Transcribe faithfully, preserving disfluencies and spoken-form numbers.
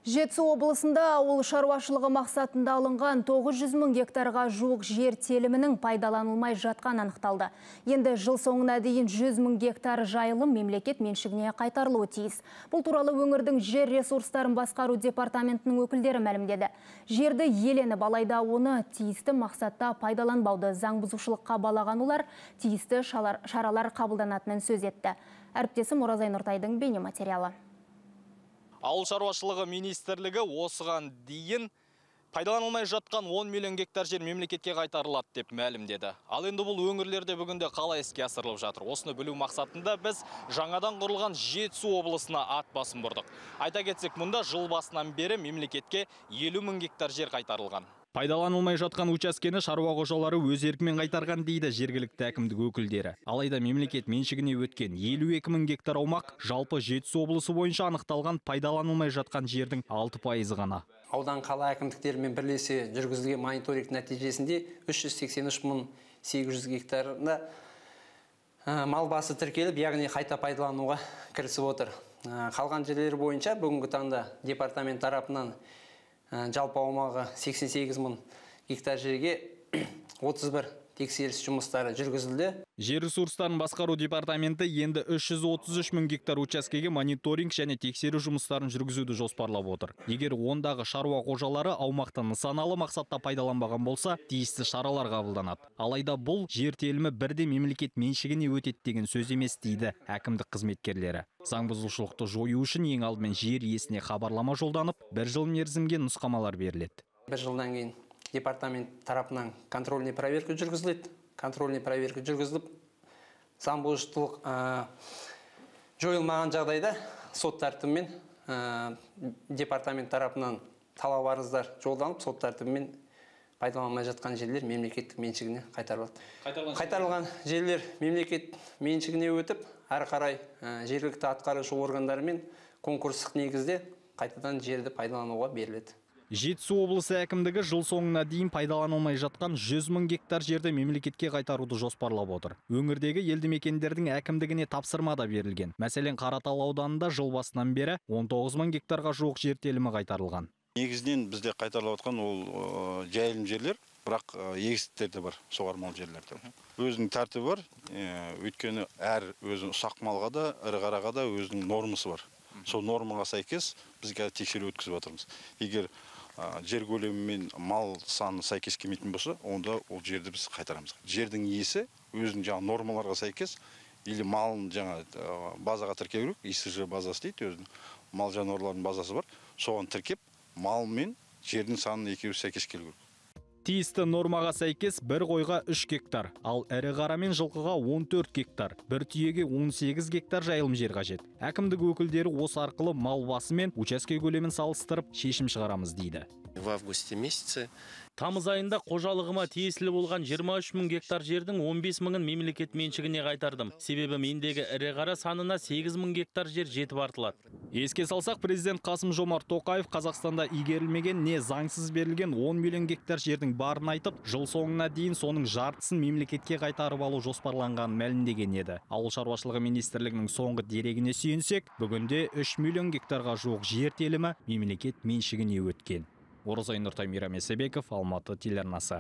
Жетісу облысында ауыл шаруашылығы мақсатында алынған тоғыз жүз мың гектарға жуық жер телімінің пайдаланылмай жатқан анықталды. Енді жыл соңына дейін жүз мың гектар жайылым мемлекет меншігіне қайтарылуы тиіс. Бұл туралы өңірдің жер ресурстарын басқару департаментінің өкілдері мәлімдеді. Жерді иеленіп, алайда оны тиісті мақсатта пайдаланбауды заң бұзушылыққа балаған олар тиісті шаралар қабылданатынын сөз етті. Әріптесім Оразай Нұртайдың бейне материалы. Ауыл шаруашылығы министрлігі осыған дейін пайдаланылмай жатқан он миллион гектар жер мемлекетке қайтарылады деп мәлімдеді. Ал енді бұл өңірлерде бүгінде қалай іске асырылып жатыр? Осыны білу мақсатында біз жаңадан құрылған Жетісу облысына ат басын бұрдық. Айта кетсек, мұнда жыл басынан бері мемлекетке елу мың гектар жер қайтарылған. Пайдаланылмай жатқан учаскені шаруа қожалары өз еркімен қайтарған дейді жергілікті әкімдік өкілдері. Алайда мемлекет меншігіне өткен елу екі мың гектар аумақ жалпы Жетісу облысы бойынша анықталған пайдаланылмай жатқан жердің алты пайызы ғана. Аудан қала әкімдіктерімен бірлесе жүргізілген мониторинг нәтижесінде үш жүз сексен үш мың сегіз жүз гектарында мал басы тіркеліп, яғни қайта пайдалануға кірісіп отыр. Қалған жерлер бойынша бүгінгі таңда департамент тарапынан жалпы аумағы сексен сегіз мың гектар жерге отыз бір тексеріс жұмыстары жүргізілді. Жер ресурстарын басқару департаменті енді үш жүз отыз үш мың гектар учаскеге мониторинг және тексеру жұмыстарын жүргізуді жоспарлап отыр. Егер ондағы шаруа қожалары аумақты нысаналы мақсатта пайдаланбаған болса, тиісті шаралар қабылданады. Алайда бұл жер телімі бірде мемлекет меншігіне өтеді деген сөз емес дейді әкімдік қызметкерлері. Заң бұзушылықты жою үшін ең алдымен жер иесіне хабарлама жолданып, бір жыл мерзімге нұсқамалар беріледі. Бір жылдан кейін департамент тарапынан контрольный проверка жүргізіледі. Контрольный проверка жүргізіліп, заң бұзушылық жойылмаған жағдайда сот тәртібімен департамент тарапынан талап арыздар жолданып, сот тәртібімен пайдаланылмай жатқан жерлер мемлекеттік меншігіне қайтарылады. Қайтарылған жерлер мемлекет меншігіне өтіп, әрі қарай жергілікті атқарушы органдарымен конкурстық негізде қайтадан жерді пайдалануға беріледі. Жетісу облысы әкімдігі жыл соңына дейін пайдаланылмай жатқан жүз мың гектар жерді мемлекетке қайтаруды жоспарлап отыр. Өңірдегі елді мекендердің әкімдігіне тапсырма да берілген. Мәселен, Қаратал ауданында жыл басынан бері он тоғыз мың гектарға жуық жер телімі қайтарылған. Негізінен бізде қайтарылып жатқан ол жайылым жерлер, бірақ егістіктер де бар, суармалы жерлерде. Өзінің тәртібі бар, өйткені әр өзінің ұсақ малға да, ірі қараға да өзінің нормасы бар. Сол нормаға сәйкес бізге тексеру өткізіп жатырмыз. Егер жер көлемі мен мал саны сәйкес келмейтін болса, онда ол жерді біз қайтарамыз. Жердің иесі өзінің жаңа нормаларға сәйкес, или малын жаңа базаға тіркеу керек, и эс жэ базасы дейді, өзінің мал жануарлардың базасы бар, соған тіркеп, мал мен жердің санын екеуі сәйкес келу керек. Тиісті нормаға сәйкес бір қойға үш гектар, ал ірі қара мен жылқыға он төрт гектар, бір түйеге он сегіз гектар жайылым жер қажет. Әкімдік өкілдері осы арқылы мал басы мен учаске көлемін салыстырып шешім шығарамыз дейді. В августе месяце тамыз айында қожалығыма тиесілі болған жиырма үш мың гектар жердің он бес мыңын мемлекет меншігіне қайтардым. Себебі мендегі ірі қара санына сегіз мың гектар жер жетіп артылады. Еске салсақ, президент Қасым-Жомарт Тоқаев Қазақстанда игерілмеген не заңсыз берілген он миллион гектар жердің барын айтып, жыл соңына дейін соның жартысын мемлекетке қайтарып алу жоспарланғанын мәлімдеген еді. Ауыл шаруашылығы министрлігінің соңғы дерегіне сүйенсек, бүгінде үш миллион гектарға жуық жер телімі мемлекет меншігіне өткен. Оразай Нұртай, Мейрам Есебеков, Алматы телеарнасы.